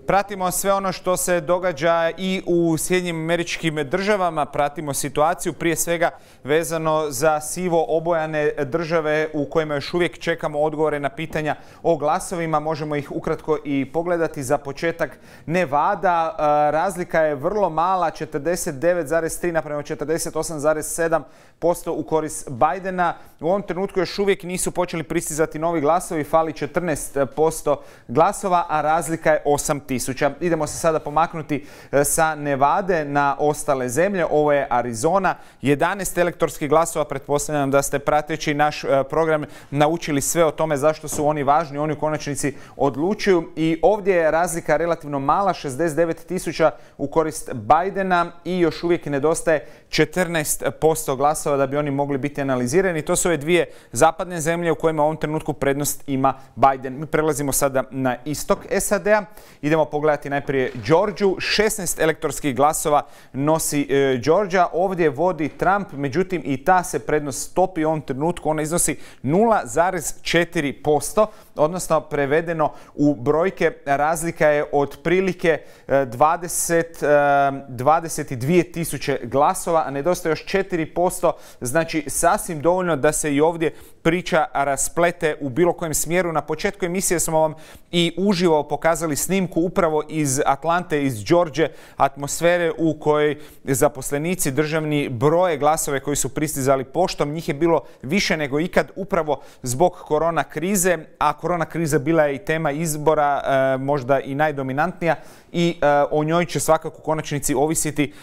Pratimo sve ono što se događa i u Sjedinjenim Američkim Državama, pratimo situaciju prije svega vezano za sivo obojane države u kojima još uvijek čekamo odgovore na pitanja o glasovima. Možemo ih ukratko i pogledati. Za početak Nevada, razlika je vrlo mala, 49,3 naprema 48,7% u korist Bidena. U ovom trenutku još uvijek nisu počeli pristizati novi glasovi, fali 14% glasova, a razlika je 8.000. Idemo se sada pomaknuti sa Nevade na ostale zemlje. Ovo je Arizona. 11 elektorskih glasova. Pretpostavljam da ste prateći naš program naučili sve o tome zašto su oni važni. Oni u konačnici odlučuju. I ovdje je razlika relativno mala, 69.000 u korist Bidena i još uvijek nedostaje 14% glasova da bi oni mogli biti analizirani. To su ove dvije zapadne zemlje u kojima u ovom trenutku prednost ima Biden. Mi prelazimo sada na istok SAD-a. Idemo pogledati najprije Georgiju. 16 elektorskih glasova nosi Georgia. Ovdje vodi Trump, međutim i ta se prednost stopi u ovom trenutku. Ona iznosi 0,4%, odnosno prevedeno u brojke razlika je otprilike 22.000 glasova, a nedostaje još 4%, znači sasvim dovoljno da se i ovdje priča rasplete u bilo kojem smjeru. Na početku emisije smo vam i uživo pokazali snimku upravo iz Atlante, iz Georgije, atmosfere u kojoj zaposlenici državni broje glasove koji su pristizali poštom. Njih je bilo više nego ikad upravo zbog korona krize, a korona kriza bila je i tema izbora, možda i najdominantnija, i o njoj će svakako u konačnici ovisiti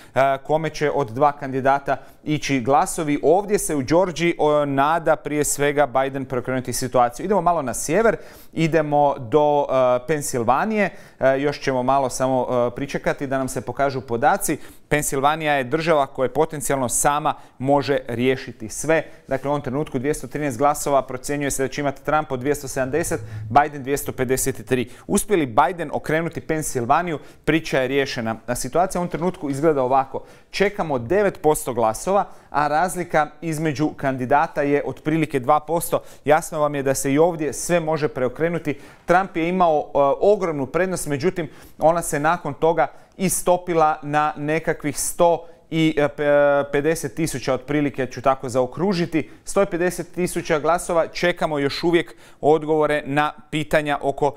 kome će od dva kandidata ići glasovi. Ovdje se u Georgiji nada prije svega Biden preokrenuti situaciju. Idemo malo na sjever, idemo do Pensilvanije. Još ćemo malo samo pričekati da nam se pokažu podaci. Pensilvanija je država koja potencijalno sama može riješiti sve. Dakle, u ovom trenutku 213 glasova, procjenjuje se da će imati Trump od 270, Biden 253. Uspjeli Biden okrenuti Pensilvaniju, priča je riješena. A situacija u ovom trenutku izgleda ovako. Čekamo 9% glasova, a razlika između kandidata je otprilike 2%. Jasno vam je da se i ovdje sve može preokrenuti. Trump je imao ogromnu prednost, međutim ona se nakon toga istopila na nekakvih 150.000 otprilike, ću tako zaokružiti. 150.000 glasova. Čekamo još uvijek odgovore na pitanja oko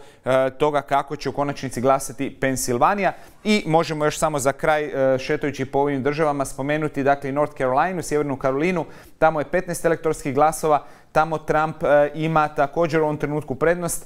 toga kako će u konačnici glasati Pensilvanija. I možemo još samo za kraj, šetajući po ovim državama, spomenuti dakle North Carolinu, Sjevernu Karolinu. Tamo je 15 elektorskih glasova. Tamo Trump ima također u ovom trenutku prednost.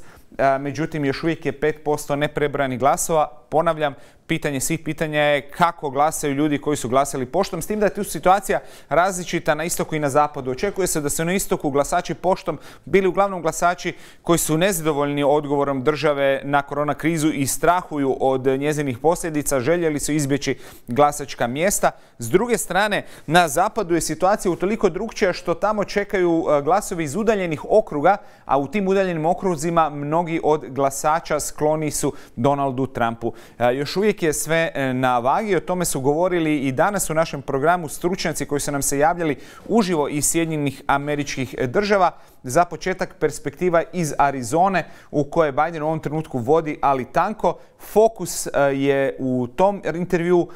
Međutim, još uvijek je 5% neprebranih glasova. Ponavljam, pitanje svih pitanja je kako glasaju ljudi koji su glasali poštom, s tim da je tu situacija različita na istoku i na zapadu. Očekuje se da su na istoku glasači poštom bili uglavnom glasači koji su nezadovoljni odgovorom države na korona krizu i strahuju od njezinih posljedica, željeli su izbjeći glasačka mjesta. S druge strane, na zapadu je situacija utoliko drukčija što tamo čekaju glasovi iz udaljenih okruga, a u tim udaljenim okruzima mnogi od glasača skloni su Donaldu Trumpu. Još uvijek je sve na vagi, o tome su govorili i danas u našem programu stručnjaci koji su nam se javljali uživo iz Sjedinjenih Američkih Država. Za početak perspektiva iz Arizone u kojoj Biden u ovom trenutku vodi, ali tanko. Fokus je u tom intervju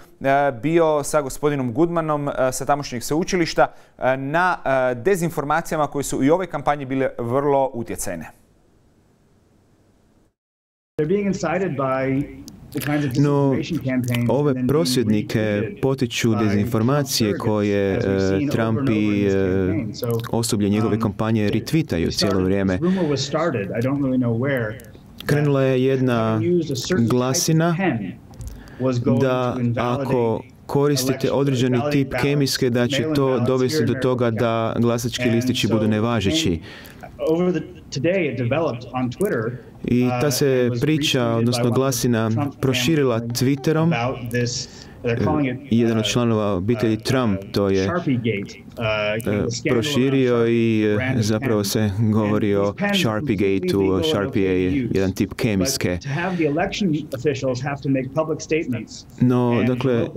bio sa gospodinom Goodmanom sa tamošnjeg sveučilišta na dezinformacijama koje su i u ovoj kampanji bile vrlo utjecajne. No, ove prosvjednike potiču dezinformacije koje Trump i osoblje njegove kampanje retvitaju cijelo vrijeme. Krenula je jedna glasina da ako koristite određeni tip kemijske, da će to dovesti do toga da glasački listići budu nevažeći. I ta se priča, odnosno glasina, proširila Twitterom. Jedan od članova obitelji Trump to je proširio i zapravo se govori o Sharpie Gateu. Sharpie je jedan tip kemijske. No, dakle,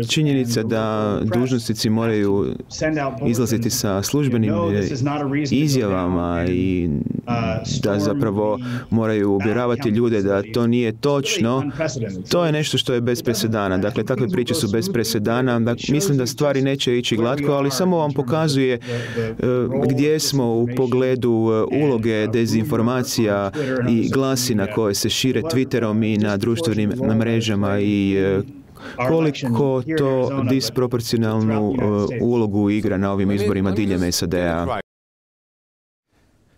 činjenica da dužnosnici moraju izlaziti sa službenim izjavama i da zapravo moraju uvjeravati ljude da to nije točno, to je nešto što je bez presedana. Dakle, takve priče su bez presedana. Mislim da stvari neće ići glatko, ali samo vam pokazuje gdje smo u pogledu uloge dezinformacija i glasina koje se šire Twitterom i na društvenim mrežama i koliko to disproporcionalnu ulogu igra na ovim izborima diljem SAD-a.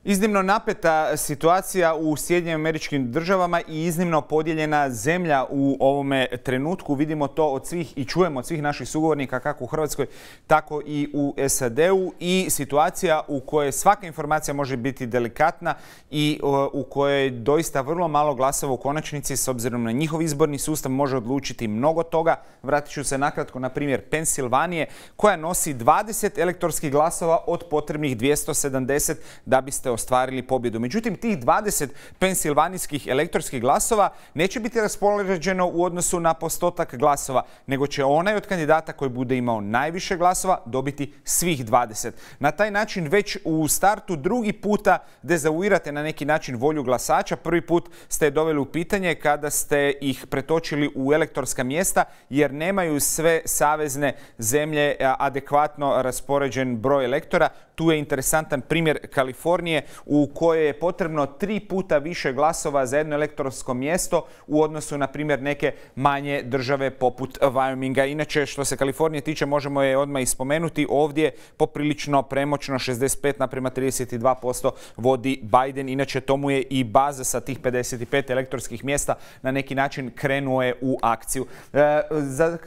Iznimno napeta situacija u Sjedinjenim Američkim Državama i iznimno podijeljena zemlja u ovome trenutku. Vidimo to od svih i čujemo od svih naših sugovornika kako u Hrvatskoj, tako i u SAD-u, i situacija u kojoj svaka informacija može biti delikatna i u kojoj doista vrlo malo glasova u konačnici s obzirom na njihov izborni sustav može odlučiti mnogo toga. Vratit ću se nakratko na primjer Pensilvanije koja nosi 20 elektorskih glasova od potrebnih 270 da biste ostvarili pobjedu. Međutim, tih 20 pensilvanijskih elektorskih glasova neće biti raspoređeno u odnosu na postotak glasova, nego će onaj od kandidata koji bude imao najviše glasova dobiti svih 20. Na taj način već u startu drugi puta dezavuirate na neki način volju glasača. Prvi put ste je doveli u pitanje kada ste ih pretočili u elektorska mjesta jer nemaju sve savezne zemlje adekvatno raspoređen broj elektora. Tu je interesantan primjer Kalifornije u kojoj je potrebno 3 puta više glasova za jedno elektorsko mjesto u odnosu na primjer neke manje države poput Wyominga. Inače, što se Kalifornije tiče, možemo je odmah ispomenuti. Ovdje poprilično premoćno 65:32% vodi Biden. Inače, to mu je i baza sa tih 55 elektorskih mjesta na neki način krenuo je u akciju.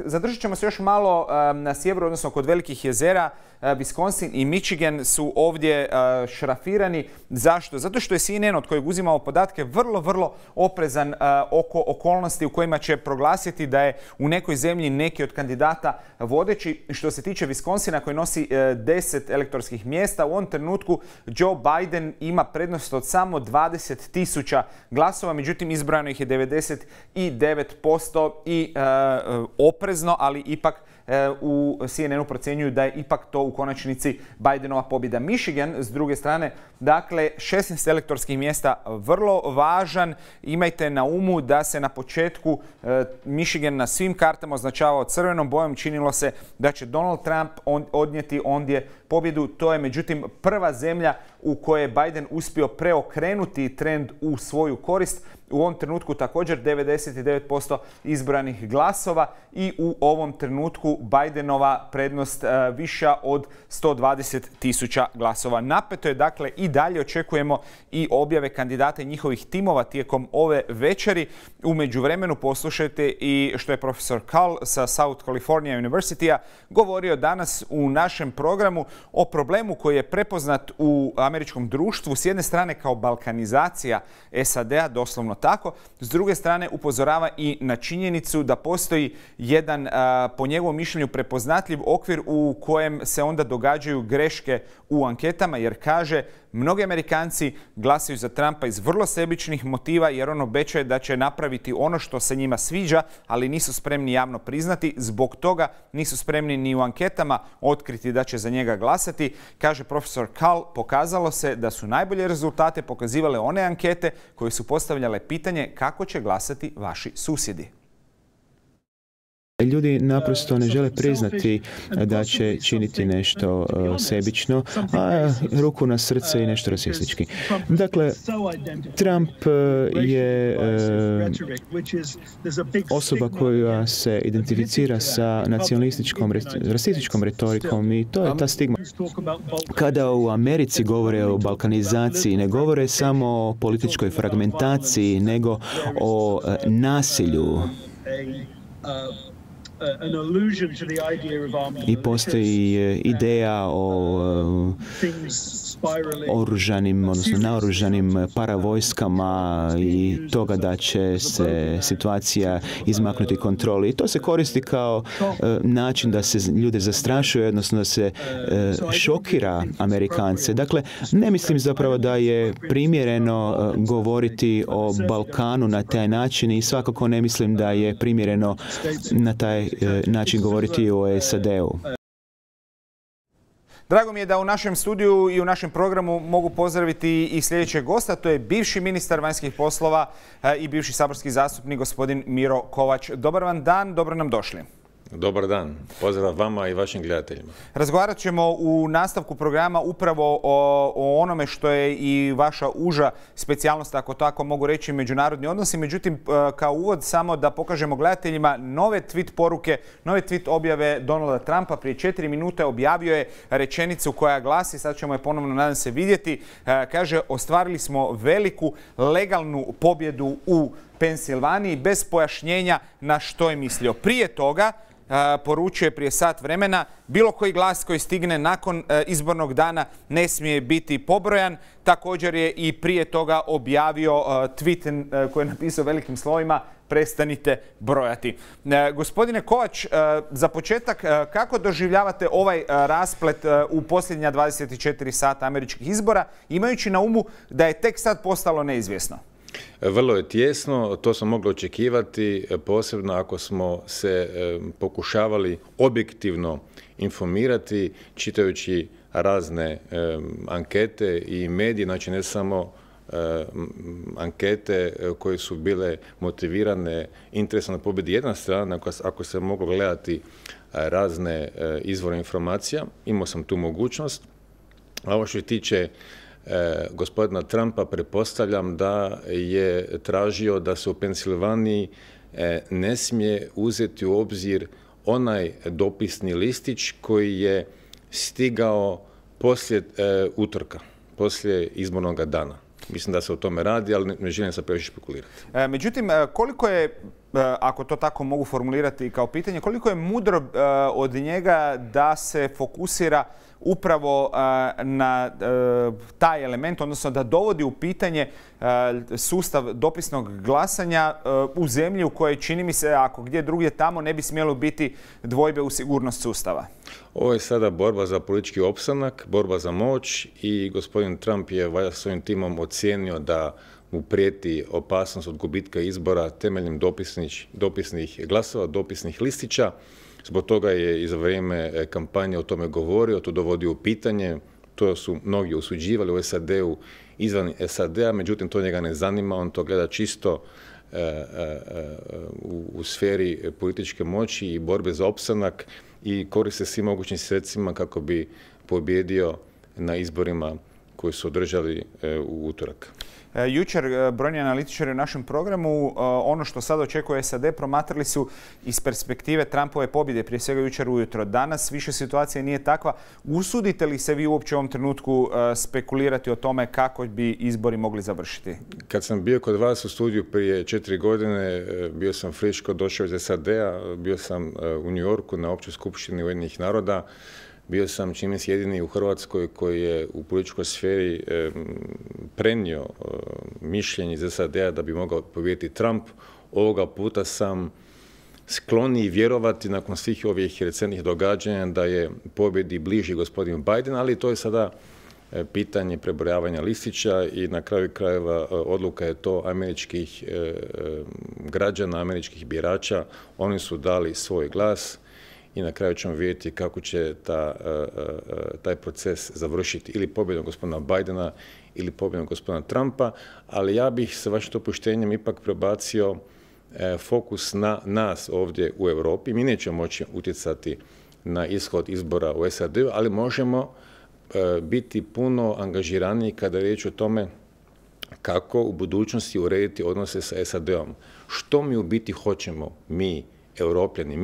Zadržat ćemo se još malo na sjeveru, odnosno kod Velikih jezera. Wisconsin i Michigan su ovdje šrafirani. Zašto? Zato što je CNN, od kojeg uzimamo podatke, vrlo oprezan oko okolnosti u kojima će proglasiti da je u nekoj zemlji neki od kandidata vodeći. Što se tiče Wisconsina koji nosi 10 elektorskih mjesta, u ovom trenutku Joe Biden ima prednost od samo 20.000 glasova, međutim izbrojano ih je 99% i oprezno, ali ipak u CNN-u procjenjuju da je ipak to u konačnici Bidenova pobjeda. Michigan, s druge strane, dakle, 16 elektorskih mjesta vrlo važan. Imajte na umu da se na početku Michigan na svim kartama označavao crvenom bojom. Činilo se da će Donald Trump odnijeti ondje pobjedu. To je međutim prva zemlja u kojoj je Biden uspio preokrenuti trend u svoju korist. U ovom trenutku također 99% izbranih glasova i u ovom trenutku Bidenova prednost viša od 120.000 glasova. Napeto je, dakle, i dalje očekujemo i objave kandidata i njihovih timova tijekom ove večeri. U međuvremenu poslušajte i što je profesor Kahl sa South California University-a govorio danas u našem programu o problemu koji je prepoznat u američkom društvu. S jedne strane kao balkanizacija SAD-a, doslovno tako. S druge strane upozorava i na činjenicu da postoji jedan, po njegovom mišljenju, prepoznatljiv okvir u kojem se onda događaju greške u anketama, jer kaže mnogi Amerikanci glasaju za Trumpa iz vrlo sebičnih motiva jer on obećaje da će napraviti ono što se njima sviđa, ali nisu spremni javno priznati. Zbog toga nisu spremni ni u anketama otkriti da će za njega glasati. Kaže profesor Kahl, pokazalo se da su najbolje rezultate pokazivale one ankete koje su postavljale pitanje kako će glasati vaši susjedi. Ljudi naprosto ne žele priznati da će činiti nešto sebično, a ruku na srce i nešto rasistički. Dakle, Trump je osoba koja se identificira sa nacionalističkom, rasističkom retorikom i to je ta stigma. Kada u Americi govore o balkanizaciji, ne govore samo o političkoj fragmentaciji, nego o nasilju. I postoji ideja o oružanim, odnosno naoružanim paravojskama i toga da će se situacija izmaknuti kontroli. I to se koristi kao način da se ljude zastrašuje, odnosno da se šokira Amerikance. Dakle, ne mislim zapravo da je primjereno govoriti o Balkanu na taj način i svakako ne mislim da je primjereno na taj način govoriti o SAD-u. Drago mi je da u našem studiju i u našem programu mogu pozdraviti i sljedećeg gosta. To je bivši ministar vanjskih poslova i bivši saborski zastupnik gospodin Miro Kovač. Dobar vam dan, dobro nam došli. Dobar dan. Pozdrav vama i vašim gledateljima. Razgovarat ćemo u nastavku programa upravo o onome što je i vaša uža specijalnost, ako tako mogu reći, međunarodni odnosi. Međutim, kao uvod samo da pokažemo gledateljima nove tweet poruke, nove tweet objave Donalda Trumpa. Prije 4 minute objavio je rečenicu koja glasi, sad ćemo je ponovno, nadam se, vidjeti. Kaže, ostvarili smo veliku legalnu pobjedu u Pensilvaniji, bez pojašnjenja na što je mislio. Prije toga poručuje prije sat vremena, bilo koji glas koji stigne nakon izbornog dana ne smije biti pobrojan. Također je i prije toga objavio tweet koji je napisao velikim slovima: prestanite brojati. Gospodine Kovač, za početak, kako doživljavate ovaj rasplet u posljednja 24 sata američkih izbora, imajući na umu da je tek sad postalo neizvjesno? Vrlo je tijesno, to smo mogli očekivati, posebno ako smo se pokušavali objektivno informirati, čitajući razne ankete i medije, znači ne samo ankete koje su bile motivirane interesom na pobjedi jedna strana, ako se moglo gledati razne izvore informacija, imao sam tu mogućnost. A ovo što se tiče gospodina Trumpa, pretpostavljam da je tražio da se u Pensilvaniji ne smije uzeti u obzir onaj dopisni listić koji je stigao poslije utorka, poslije izbornog dana. Mislim da se o tome radi, ali ne želim se previše špekulirati. Međutim, koliko je, ako to tako mogu formulirati kao pitanje, koliko je mudro od njega da se fokusira upravo na taj element, odnosno da dovodi u pitanje sustav dopisnog glasanja u zemlji u kojoj, čini mi se, ako gdje drugdje tamo, ne bi smjelo biti dvojbe u sigurnost sustava? Ovo je sada borba za politički opstanak, borba za moć i gospodin Trump je valjda svojim timom ocijenio da mu prijeti opasnost od gubitka izbora temeljem dopisnih glasova, dopisnih listića. Zbog toga je i za vrijeme kampanje o tome govorio, to dovodio u pitanje, to su mnogi osuđivali u SAD-u, izvan SAD-a, međutim to njega ne zanima, on to gleda čisto u sferi političke moći i borbe za opstanak i koriste svim mogućim sredstvima kako bi pobjedio na izborima koji su održali u utorak. Jučer brojni analitičari u našem programu ono što sad očekuje SAD promatrali su iz perspektive Trumpove pobjede, prije svega jučer ujutro. Danas više situacija nije takva. Usudite li se vi uopće u ovom trenutku spekulirati o tome kako bi izbori mogli završiti? Kad sam bio kod vas u studiju prije 4 godine, bio sam friško došao iz SAD-a, bio sam u New Yorku na općoj skupštini Ujedinjenih naroda. Bio sam, čini se, jedini u Hrvatskoj koji je u političkoj sferi prenio mišljenje iz SAD-a da bi mogao pobijediti Trump. Ovoga puta sam skloniji vjerovati nakon svih ovih recentnih događanja da je pobjedi bliži gospodin Biden, ali to je sada pitanje prebrojavanja listića i na kraju krajeva odluka je to američkih građana, američkih birača. Oni su dali svoj glas i na kraju ćemo vidjeti kako će taj proces završiti, ili pobjedom gospodina Bidena ili pobjedom gospodina Trumpa, ali ja bih sa vašim dopuštenjem ipak prebacio fokus na nas ovdje u Europi. Mi nećemo moći utjecati na ishod izbora u SAD-u, ali možemo biti puno angažiraniji kada je riječ o tome kako u budućnosti urediti odnose sa SAD-om. Što mi u biti hoćemo, mi Europljani,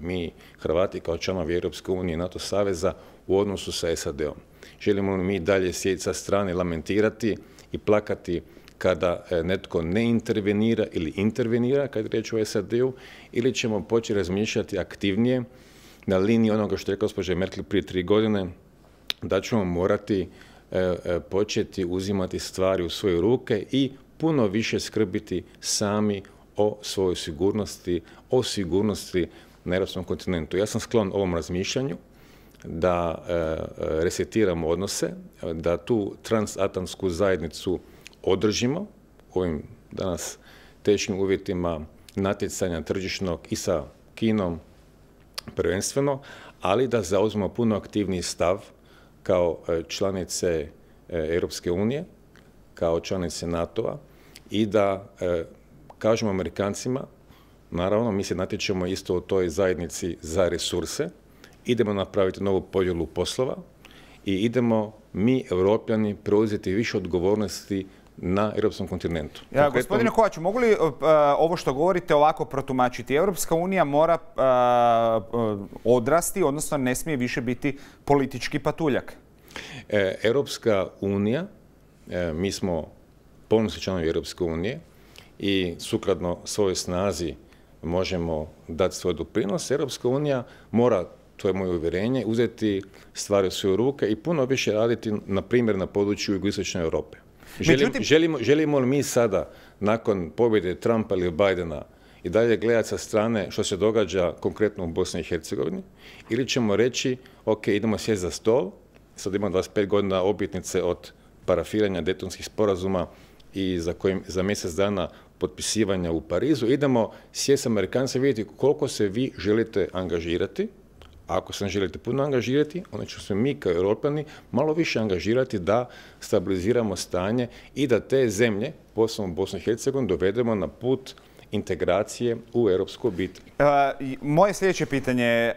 mi Hrvati kao članovi Europske unije i NATO saveza u odnosu sa SAD-om. Želimo li mi dalje sjediti sa strane, lamentirati i plakati kada netko ne intervenira ili intervenira, kad je riječ o SAD-u, ili ćemo početi razmišljati aktivnije na liniji onoga što je gospođa Merkel prije 3 godine, da ćemo morati početi uzimati stvari u svoje ruke i puno više skrbiti sami o svojoj sigurnosti, o sigurnosti na europskom kontinentu. Ja sam sklon ovom razmišljanju da resetiramo odnose, da tu transatlantsku zajednicu održimo u ovim danas teškim uvjetima natjecanja tržišnog i sa Kinom prvenstveno, ali da zauzmemo puno aktivniji stav kao članice Europske unije, kao članice NATO-a i da kažemo Amerikancima, naravno mi se natječemo isto u toj zajednici za resurse, idemo napraviti novu podjelu poslova i idemo mi, Europljani, preuzeti više odgovornosti na europskom kontinentu. Gospodine Kovaču, mogu li ovo što govorite ovako protumačiti? Europska unija mora odrasti, odnosno ne smije više biti politički patuljak. Europska unija, mi smo ponosni članovi Europske unije i sukladno svojoj snazi možemo dati svoj doprinos. Europska unija mora, to je moje uvjerenje, uzeti stvari u svoje ruke i puno više raditi, na primjer, na području jugoistočne Europe. Želimo li mi sada, nakon pobjede Trumpa ili Bidena, i dalje gledati sa strane što se događa konkretno u Bosni i Hercegovini, ili ćemo reći, ok, idemo sjesti za stol, sad imamo 25 godina obljetnice od parafiranja Daytonskih sporazuma i za mjesec dana potpisivanja u Parizu, idemo sjesti s Amerikancima i vidjeti koliko se vi želite angažirati. Ako se ne želite puno angažirati, onda ćemo se mi kao Europljani malo više angažirati da stabiliziramo stanje i da te zemlje, posebno Bosnu i Hercegovinu, dovedemo na put integracije u europsku obitelj. Moje sljedeće pitanje.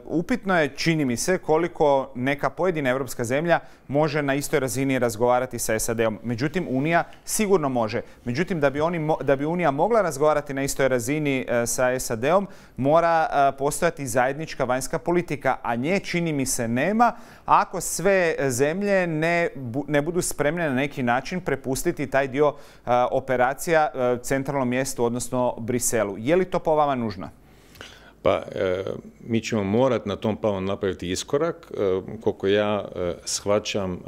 Upitno je, čini mi se, koliko neka pojedina europska zemlja može na istoj razini razgovarati sa SAD-om. Međutim, Unija sigurno može. Međutim, da bi Unija mogla razgovarati na istoj razini sa SAD-om, mora postojati zajednička vanjska politika, a nje, čini mi se, nema ako sve zemlje ne budu spremne na neki način prepustiti taj dio operacija centralnom mjestu, odnosno Briselu. Je li to po vama nužno? Pa, mi ćemo morati na tom planu napraviti iskorak. Koliko ja shvaćam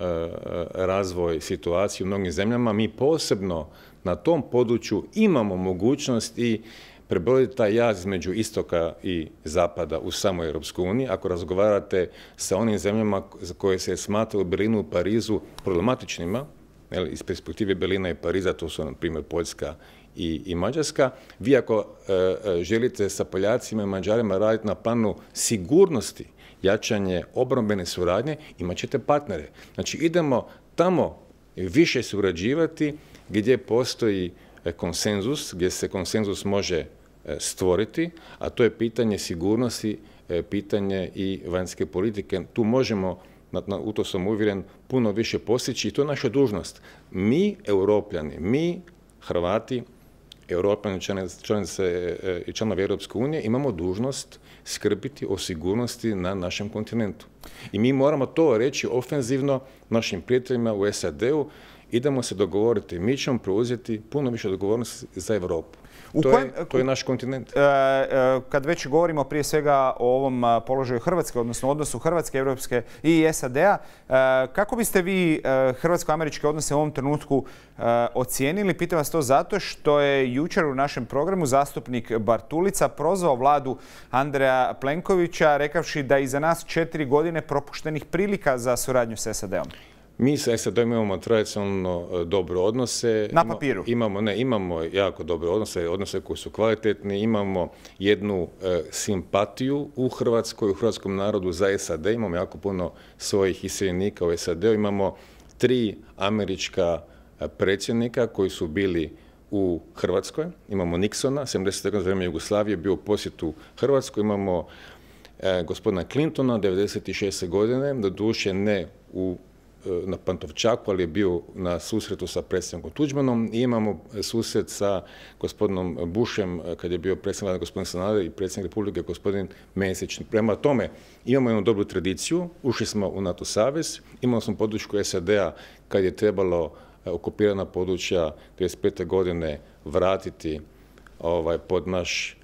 razvoj situacije u mnogim zemljama, mi posebno na tom području imamo mogućnost i prebroditi taj jaz između istoka i zapada u samoj Europskoj uniji. Ako razgovarate sa onim zemljama za koje se smatra u Berlinu, u Parizu problematičnima, iz perspektive Berlina i Pariza, to su, na primjer, Poljska i Mađarska, vi ako želite sa Poljacima i Mađarima raditi na planu sigurnosti, jačanje obrambene suradnje, imat ćete partnere. Znači, idemo tamo više surađivati gdje postoji konsenzus, gdje se konsenzus može stvoriti, a to je pitanje sigurnosti, pitanje i vanjske politike. Tu možemo, u to sam uvjeren, puno više postići i to je naša dužnost. Mi, Europljani, mi, Hrvati, Europljani, članice i članovi Europske unije, imamo dužnost skrbiti o sigurnosti na našem kontinentu. I mi moramo to reći ofenzivno našim prijateljima u SAD-u, idemo se dogovoriti, mi ćemo preuzeti puno više odgovornosti za Europu. To je naš kontinent. Kad već govorimo prije svega o ovom položaju Hrvatske, odnosno odnosu Hrvatske, Europske i SAD-a, kako biste vi hrvatsko-američke odnose u ovom trenutku ocijenili? Pitam vas to zato što je jučer u našem programu zastupnik Bartulica prozvao vladu Andreja Plenkovića rekavši da je iza nas 4 godine propuštenih prilika za suradnju s SAD-om. Mi sa SAD-om imamo tradicionalno dobre odnose. Na papiru? Imamo jako dobre odnose koji su kvalitetni, imamo jednu simpatiju u Hrvatskoj, u hrvatskom narodu za SAD, imamo jako puno svojih iseljenika u SAD-u, imamo 3 američka predsjednika koji su bili u Hrvatskoj, imamo Nixona, 70. za vrijeme Jugoslavije, bio u posjetu Hrvatskoj, imamo gospodina Clintona, 96. godine, doduše ne na Pantovčaku, ali je bio na susretu sa predsjednikom Tuđmanom i imamo susret sa gospodinom Bushem kad je bio predsjednik vlade gospodin Sanader i predsjednik Republike gospodin Mesić. Prema tome imamo jednu dobru tradiciju, ušli smo u NATO savez, imali smo podršku SAD-a kad je trebalo okupirana područja 1995. godine vratiti pod naš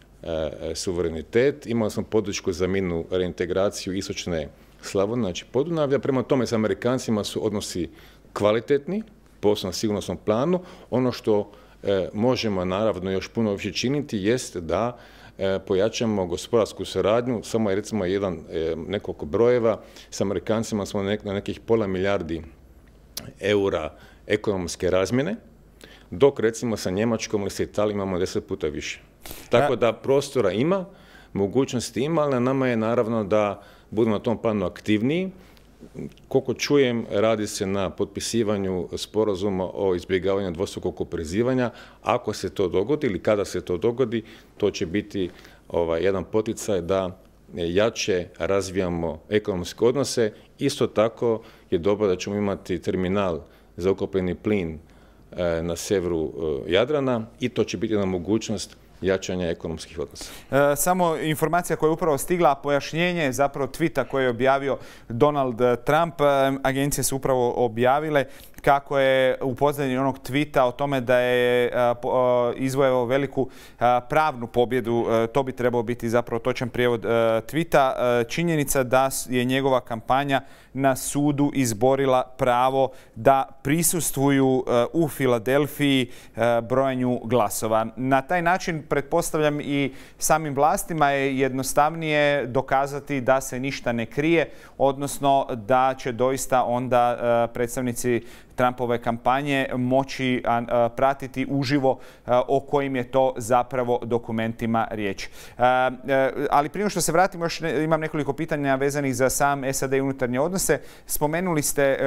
suverenitet. Imali smo podršku za mirnu reintegraciju istočne Slavonije, znači Podunavlja. Prema tome s Amerikancima su odnosi kvalitetni, posebno na sigurnosnom planu. Ono što možemo naravno još puno više činiti jest da pojačamo gospodarsku suradnju. Samo je recimo nekoliko brojeva. S Amerikancima smo na nekih pola milijardi eura ekonomske razmjene, dok recimo sa Njemačkom ili sa Italijom imamo 10 puta više. Tako da prostora ima, mogućnosti ima, ali na nama je naravno da budemo na tom planu aktivniji. Koliko čujem, radi se na potpisivanju sporazuma o izbjegavanju dvostrukog oporezivanja. Ako se to dogodi ili kada se to dogodi, to će biti jedan poticaj da jače razvijamo ekonomske odnose. Isto tako je dobro da ćemo imati terminal za ukapljeni plin na severu Jadrana i to će biti jedna mogućnost jačanja ekonomskih odnosa. Samo informacija koja je upravo stigla, pojašnjenje zapravo tvita koje je objavio Donald Trump. Agencije su upravo objavile kako je u pozadini onog tvita o tome da je izvojevao veliku pravnu pobjedu. To bi trebao biti zapravo točan prijevod tvita. Činjenica da je njegova kampanja na sudu izborila pravo da prisustvuju u Filadelfiji brojanju glasova. Na taj način, pretpostavljam, i samim vlastima je jednostavnije dokazati da se ništa ne krije, odnosno da će doista onda predstavnici Trumpove kampanje moći pratiti uživo o kojim je to zapravo dokumentima riječ. Ali prije što se vratimo, još imam nekoliko pitanja vezanih za sam SAD i unutarnje odnose. Spomenuli ste,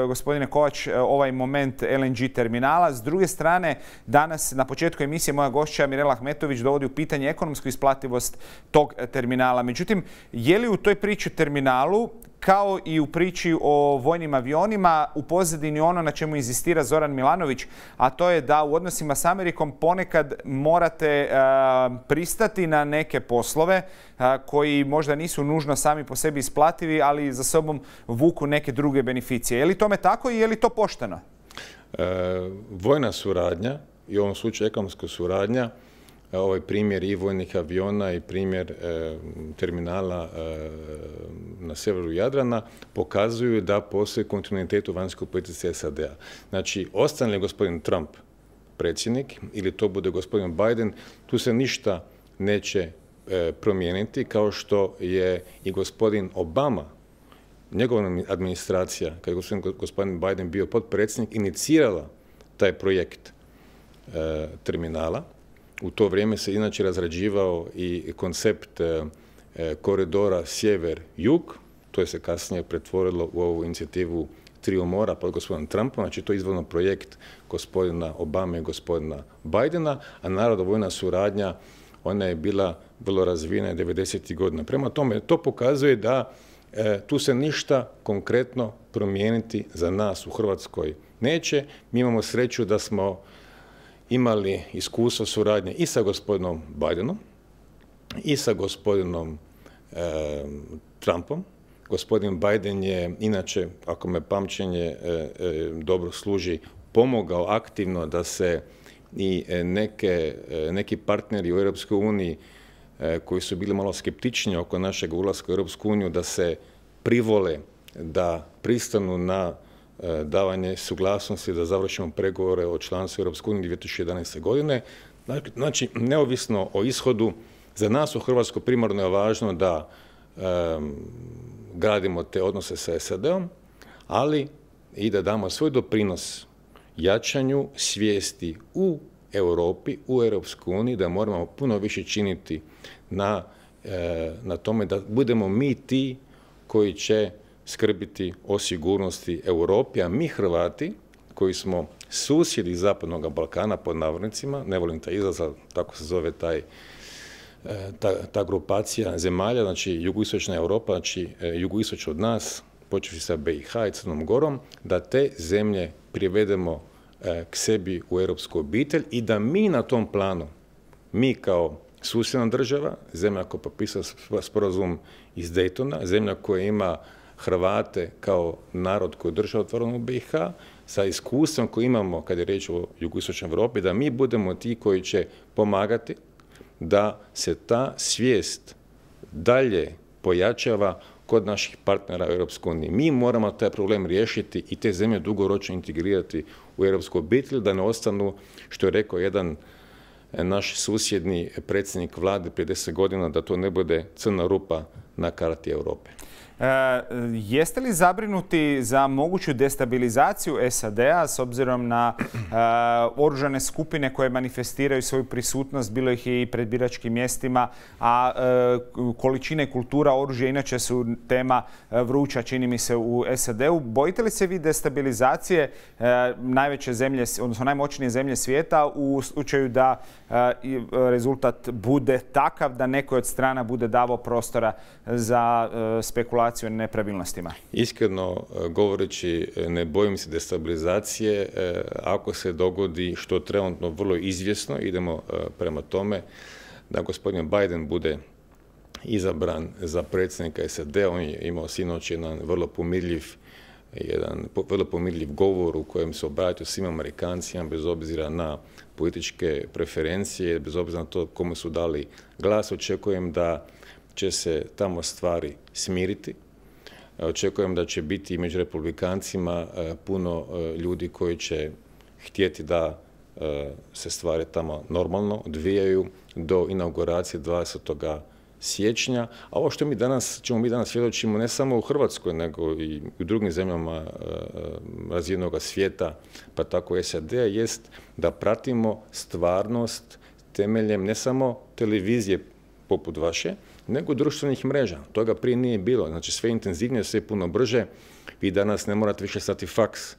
gospodine Kovač, ovaj moment LNG terminala. S druge strane, danas na početku emisije moja gošća Mirela Ahmetović dovodi u pitanje ekonomsku isplativost tog terminala. Međutim, je li u toj priči o terminalu, kao i u priči o vojnim avionima, u pozadini ono na čemu inzistira Zoran Milanović, a to je da u odnosima s Amerikom ponekad morate pristati na neke poslove koji možda nisu nužno sami po sebi isplativi, ali za sobom vuku neke druge beneficije. Je li tome tako i je li to pošteno? Vojna suradnja i u ovom slučaju ekonomska suradnja, ovaj primjer i vojnih aviona i primjer terminala na severu Jadrana pokazuju da postoji kontinuitet u vanjskoj politici SAD-a. Znači, ostane li gospodin Trump predsjednik ili to bude gospodin Biden, tu se ništa neće promijeniti, kao što je i gospodin Obama, njegova administracija, kada je gospodin Biden bio potpredsjednik, inicirala taj projekt terminala. U to vrijeme se inače razrađivao i koncept koridora sjever-jug, to je se kasnije pretvorilo u ovu inicijativu Triju mora pod gospodinom Trumpom, znači to je izvorno projekt gospodina Obame i gospodina Bidena, a naravno vojna suradnja, ona je bila vrlo razvijena 90. godina. Prema tome, to pokazuje da tu se ništa konkretno promijeniti za nas u Hrvatskoj neće. Mi imamo sreću da smo imali iskustvo suradnje i sa gospodinom Bidenom i sa gospodinom Trumpom. Gospodin Biden je inače, ako me pamćenje dobro služi, pomogao aktivno da se i neki partneri u Europskoj uniji koji su bili malo skeptični oko našeg ulaska u Europsku uniju, da se privole, da pristanu na davanje suglasnosti da završimo pregovore o članstvu Europske unije 2011. godine. Znači, neovisno o ishodu, za nas u Hrvatskoj primarno je važno da gradimo te odnose sa SAD-om, ali i da damo svoj doprinos jačanju svijesti u Europi, u Europskoj uniji, da moramo puno više činiti na tome da budemo mi ti koji će skrbiti o sigurnosti Europi, a mi Hrvati, koji smo susjedi Zapadnog Balkana, pod navodnicima, ne volim taj izraz, tako se zove ta grupacija zemalja, znači jugoistočna Europa, znači jugoistočno od nas, počevši sa BiH i Crnom Gorom, da te zemlje privedemo k sebi u europsku obitelj i da mi na tom planu, mi kao susjedna država, zemlja koja potpisala sporazum iz Daytona, zemlja koja ima Hrvate kao narod koji je držao otvorenu BiH, sa iskustvom koji imamo kad je riječ o jugoistočnoj Europi, da mi budemo ti koji će pomagati da se ta svijest dalje pojačava kod naših partnera u Europskoj uniji. Mi moramo taj problem riješiti i te zemlje dugoročno integrirati u europsku obitelj, da ne ostanu, što je rekao jedan naš susjedni predsjednik vlade prije 10 godina, da to ne bude crna rupa na karti Europe. Jeste li zabrinuti za moguću destabilizaciju SAD-a s obzirom na oružane skupine koje manifestiraju svoju prisutnost, bilo ih je i pred biračkim mjestima, a količine kultura oružja inače su tema vruća, čini mi se, u SAD-u. Bojite li se vi destabilizacije najveće zemlje, odnosno najmoćnije zemlje svijeta u slučaju da rezultat bude takav da nekoj od strana bude davao prostora za spekulaciju o nepravilnostima? Iskreno govoreći, ne bojim se destabilizacije. Ako se dogodi, što trenutno vrlo izvjesno, idemo prema tome da gospodin Biden bude izabran za predsjednika SAD-a. On je imao sinoć jedan vrlo pomirljiv govor u kojem se obratio svim Amerikancima bez obzira na političke preferencije, bez obzira na to kome su dali glas. Očekujem da će se tamo stvari smiriti. Očekujem da će biti među republikancima puno ljudi koji će htjeti da se stvari tamo normalno odvijaju do inauguracije 20. siječnja. A ovo što čemu mi danas svjedočimo ne samo u Hrvatskoj, nego i u drugim zemljama razvijenog svijeta, pa tako SAD-a, jest da pratimo stvarnost temeljem ne samo televizije poput vaše, nego društvenih mreža. Toga prije nije bilo. Znači sve intenzivnije, sve puno brže. Vi danas ne morate više slati faks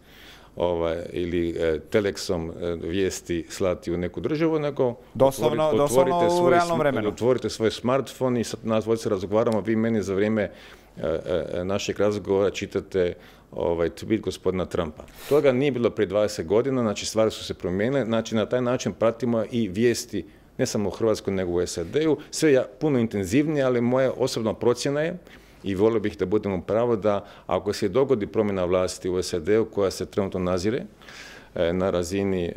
ili teleksom vijesti slati u neku državu, nego doslovno u realnom vremenu. Otvorite svoj smartfon i sad nas dvojice razgovaramo, vi meni za vrijeme našeg razgovora čitate tweet gospodina Trumpa. Toga nije bilo prije 20 godina, znači stvari su se promijenile, znači na taj način pratimo i vijesti ne samo u Hrvatskoj, nego u SAD-u. Sve je puno intenzivnije, ali moja osobna procjena je, i volio bih da budemo pravo, da ako se dogodi promjena vlasti u SAD-u koja se trenutno nazire na razini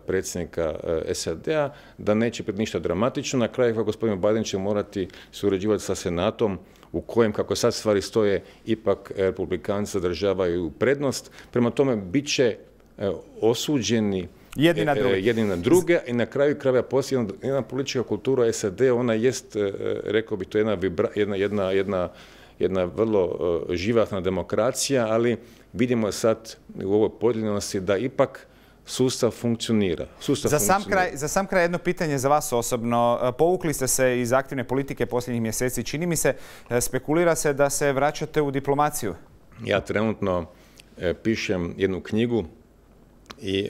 predsjednika SAD-a, da neće biti ništa dramatično. Na kraju gospodin Biden će morati surađivati sa Senatom u kojem, kako sad stvari stoje, ipak republikanci zadržavaju prednost. Prema tome, bit će osuđeni jedni na druge i na kraju krajeva posljedna jedna politička kultura SAD, ona jest, rekao bi, to jedna vrlo živahna demokracija, ali vidimo sad u ovoj podijeljenosti da ipak sustav funkcionira. Za sam kraj jedno pitanje za vas osobno. Povukli ste se iz aktivne politike posljednjih mjeseci. Čini mi se, spekulira se da se vraćate u diplomaciju. Ja trenutno pišem jednu knjigu i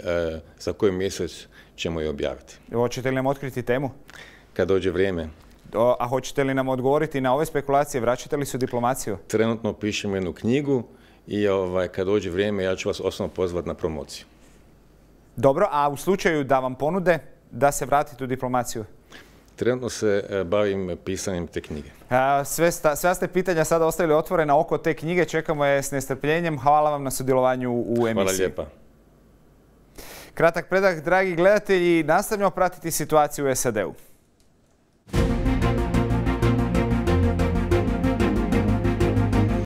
za koji mjesec ćemo je objaviti. Hoćete li nam otkriti temu? Kad dođe vrijeme. A hoćete li nam odgovoriti na ove spekulacije? Vraćate li se u diplomaciju? Trenutno pišem jednu knjigu i kad dođe vrijeme ja ću vas osobno pozvati na promociju. Dobro, a u slučaju da vam ponude da se vratite u diplomaciju? Trenutno se bavim pisanjem te knjige. Sve ste pitanja sada ostavili otvorena oko te knjige. Čekamo je s nestrpljenjem. Hvala vam na sudjelovanju u emisiji. Hvala lijepa. Kratak predah, dragi gledatelji. Nastavljamo pratiti situaciju u SAD-u.